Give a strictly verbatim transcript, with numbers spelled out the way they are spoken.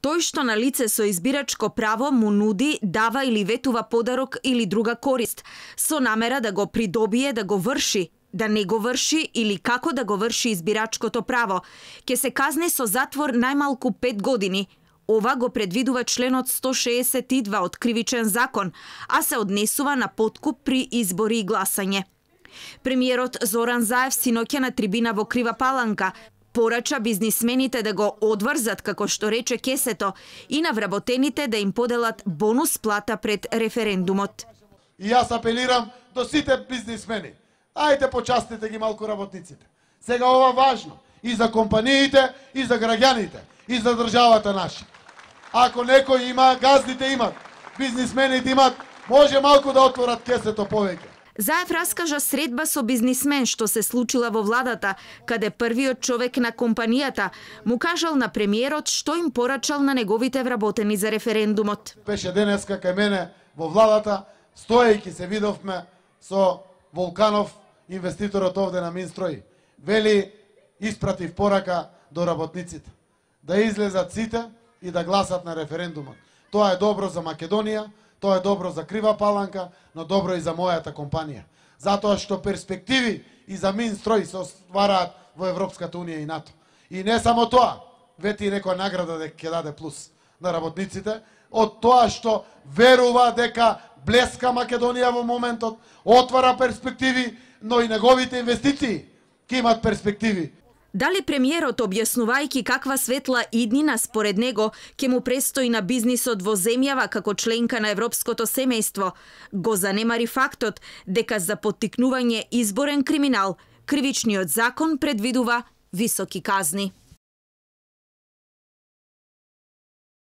Тој што на лице со избирачко право му нуди, дава или ветува подарок или друга корист, со намера да го придобие, да го врши, да не го врши или како да го врши избирачкото право, ќе се казни со затвор најмалку пет години. Ова го предвидува членот сто шеесет и два од Кривичен закон, а се однесува на подкуп при избори и гласање. Премиерот Зоран Заев синоќа на трибина во Крива Паланка порача бизнисмените да го одврзат, како што рече кесето, и на вработените да им поделат бонус плата пред референдумот. И јас апелирам до сите бизнисмени. Ајде почастите ги малку работниците. Сега ова важно и за компаниите, и за граѓаните, и за државата наша. Ако некој има, газдите имат, бизнисмените имат, може малку да отворат кесето повеќе. Заев раскажа средба со бизнисмен што се случила во владата, каде првиот човек на компанијата му кажал на премиерот што им порачал на неговите вработени за референдумот. Беше денеска кај мене во владата, стоејќи се видовме со Волканов, инвеститорот овде на Минстрои. Вели, испратив порака до работниците да излезат сите и да гласат на референдумот. Тоа е добро за Македонија, тоа е добро за Крива Паланка, но добро и за мојата компанија. Затоа што перспективи и за Минстрои се оствараат во Европската Унија и НАТО. И не само тоа, вети некоја награда дека ќе даде плюс на работниците, од тоа што верува дека блеска Македонија во моментот, отвара перспективи, но и неговите инвестиции ќе имат перспективи. Дали премиерот, објаснувајќи каква светла иднина според него ќе му престои на бизнисот во земјава како членка на европското семејство, го занемари фактот дека за поттикнување изборен криминал кривичниот закон предвидува високи казни.